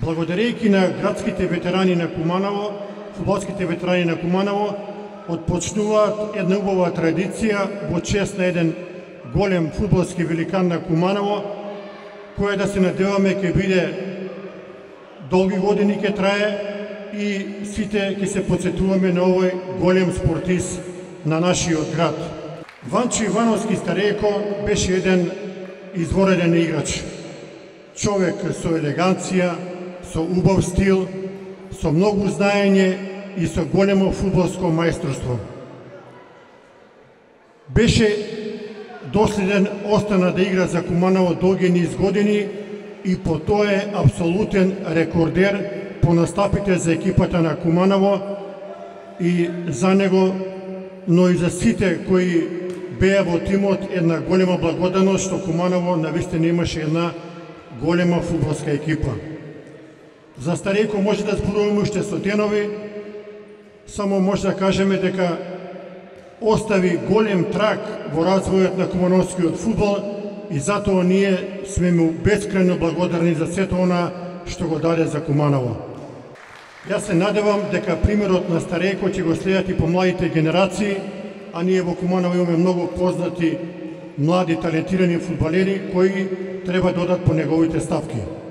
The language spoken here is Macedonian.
Благодарејќи на градските ветерани на Куманово, фудбалските ветерани на Куманово, отпочнуваат една убава традиција во чест на еден голем фудбалски великан на Куманово, која да се надеваме ќе биде долги години ќе трае и сите ќе се потсетуваме на овој голем спортист на нашиот град. Ванчо Ивановски Старејко беше еден извореден играч. Човек со елеганција, со убав стил, со многу знаење и со големо фудбалско мајсторство. Беше доследен, остана да игра за Куманово долги низ години и по тоа е апсолутен рекордер по настапите за екипата на Куманово и за него, но и за сите кои беа во тимот, една голема благодарност што Куманово навистина имаше една голема фудбалска екипа. За Старејко може да зборуваме уште со денови, само може да кажеме дека остави голем траг во развојот на кумановскиот фудбал и затоа ние сме му бескрајно благодарни за сето она што го даде за Куманово. Јас се надевам дека примерот на Старејко ќе го следат и по младите генерации, а ние во Куманово имаме многу познати млади талентирани фудбалери кои треба да одат по неговите стапки.